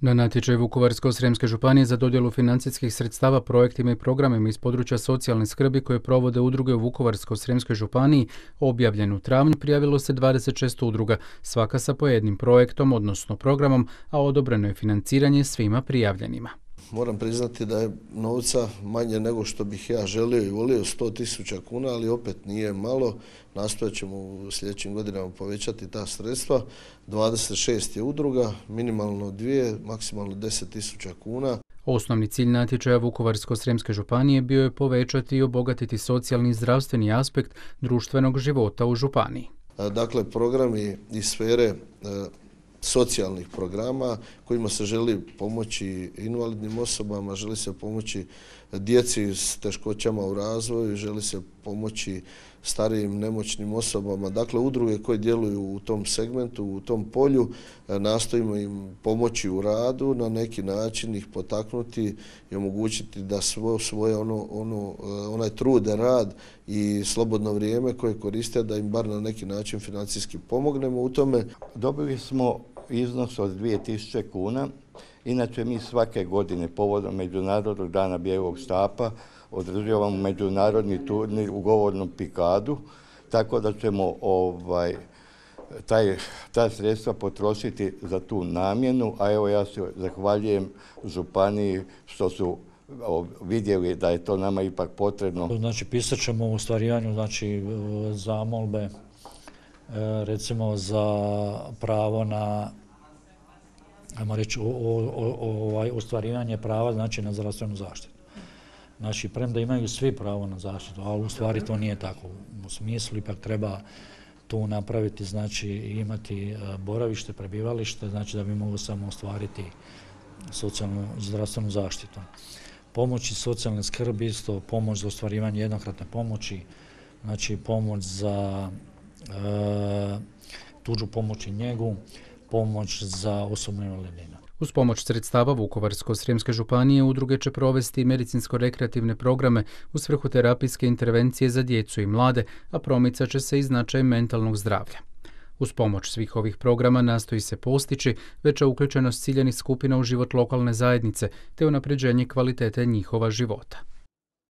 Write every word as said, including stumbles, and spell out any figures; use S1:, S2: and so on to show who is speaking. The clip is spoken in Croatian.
S1: Na natječaj Vukovarsko-srijemske županije za dodjelu financijskih sredstava projektima i programima iz područja socijalne skrbi koje provode udruge u Vukovarsko-srijemskoj županiji, objavljen u travnju, prijavilo se dvadeset šest udruga, svaka sa po jednim projektom, odnosno programom, a odobreno je financiranje svima prijavljenima.
S2: Moram priznati da je novca manje nego što bih ja želio i volio, sto tisuća kuna, ali opet nije malo. Nastojat ćemo u sljedećim godinama povećati ta sredstva. dvadeset šest je udruga, minimalno dvije, maksimalno deset tisuća kuna.
S1: Osnovni cilj natječaja Vukovarsko-srijemske županije bio je povećati i obogatiti socijalni i zdravstveni aspekt društvenog života u županiji.
S2: Dakle, programi iz sfere socijalnih programa kojima se želi pomoći invalidnim osobama, želi se pomoći djeci s teškoćama u razvoju, želi se pomoći starijim nemoćnim osobama. Dakle, udruge koje djeluju u tom segmentu, u tom polju, nastojimo im pomoći u radu, na neki način ih potaknuti i omogućiti da svo, svoje ono, ono, onaj trud, rad i slobodno vrijeme koje koriste, da im bar na neki način financijski pomognemo u tome.
S3: Dobili smo iznos od dvije tisuće kuna. Inače, mi svake godine povodom Međunarodnog dana bijelog štapa održavamo međunarodni turnir u govornom pikadu, tako da ćemo ovaj, taj, ta sredstva potrošiti za tu namjenu, a evo ja se zahvaljujem županiji što su vidjeli da je to nama ipak potrebno.
S4: Znači, pisat ćemo u ostvarivanju znači, zamolbe, recimo za pravo na ajmo reći, o, o, o, ovaj, ostvarivanje prava znači, na zdravstvenu zaštitu. Znači, premda imaju svi pravo na zaštitu, ali u stvari to nije tako. U smislu ipak treba tu napraviti, znači imati boravište, prebivalište, znači da bi mogli samo ostvariti socijalnu i zdravstvenu zaštitu. Pomoći socijalne skrbi, isto pomoć za ostvarivanje jednokratne pomoći, znači pomoć za e, tuđu pomoć i njegu, pomoć za osobnu invalidninu.
S1: Uz pomoć sredstava Vukovarsko-srijemske županije udruge će provesti medicinsko-rekreativne programe u svrhu terapijske intervencije za djecu i mlade, a promicat će se i značaj mentalnog zdravlja. Uz pomoć svih ovih programa nastoji se postići veća uključenost ciljanih skupina u život lokalne zajednice te unapređenje kvalitete njihova života.